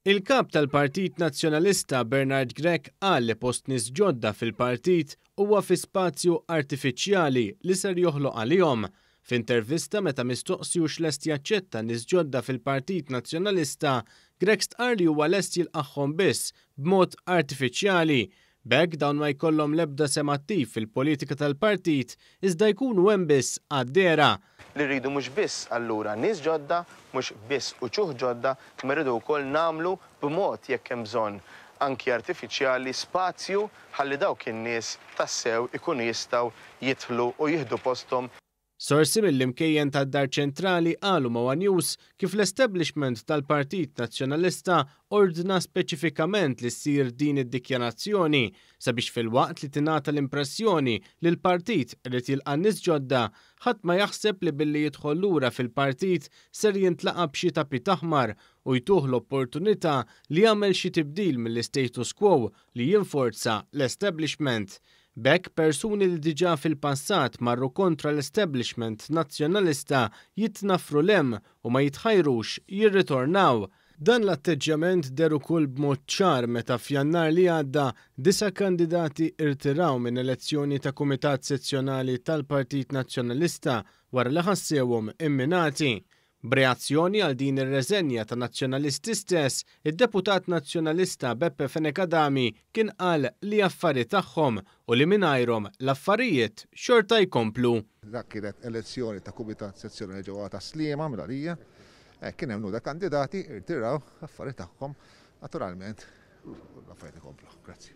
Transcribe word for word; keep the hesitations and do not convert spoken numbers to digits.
Il-kap tal-Partit Nazzjonalista Bernard Grech qal li post nies ġodda fil-partit huwa fi spazju artifiċjali li ser joħloq għalihom. F'intervista meta mistoqsi hux lest jaċċetta nies ġodda fil-Partit Nazzjonalista, Grech stqarr li huwa lest jilqagħhom biss b'mod artifiċjali. B'hekk dawn ma jkollhom l-ebda sehem attiv fil-politika tal-partit iżda jkunu hemm biss għad-dehra. Li rridu mhux biss allura nies ġodda, mhux biss uċuħ ġodda, imma rridu wkoll nagħmlu b'mod jekk hemm bżonn anki artifiċjali spazju ħalli dawk in-nies tassew ikunu jistgħu jidħlu u jieħdu posthom. Sorsi mill-imkejjen tad-Dar Ċentrali qalu ma' One News kif l-establishment tal-Partit Nazzjonalista ordna speċifikament li ssir din id-dikjarazzjoni sabiex filwaqt li tingħata l-impressjoni li l-partit irid jilqa' nies ġodda, ħadd ma jaħseb li billi jidħol lura fil-partit ser jintlaqa' b'xi tapit aħmar u jtuh l-opportunità li jagħmel xi tibdil mill-status quo li jinforza l-establishment. B'hekk persuni li diġà fil-passat marru kontra l-establishment nazzjonalista jitnaffru 'l hemm u ma jitħajrux jirritornaw. Dan l-atteġġjament deher ukoll b'mod ċar meta f'Jannar li għadda disa' kandidati irtiraw minn elezzjoni ta' Kumitat Sezzjonali tal-Partit Nazzjonalista wara li ħassewhom imminati. B'reazzjoni għal din ir-reżenja ta' nazzjonalisti stess, id-deputat nazzjonalista Beppe Fenech Adami kien qal li affari tagħhom u li mingħajrhom l-affarijiet xorta jkomplu. Dak kienet elezzjoni ta' Kumitat Sezzjonali ġewwa ta' Sliema mill-għalija. Kien hemm numru ta' kandidati irtiraw affari tagħhom, naturalment l-affarijiet ikomplu. Grazzi.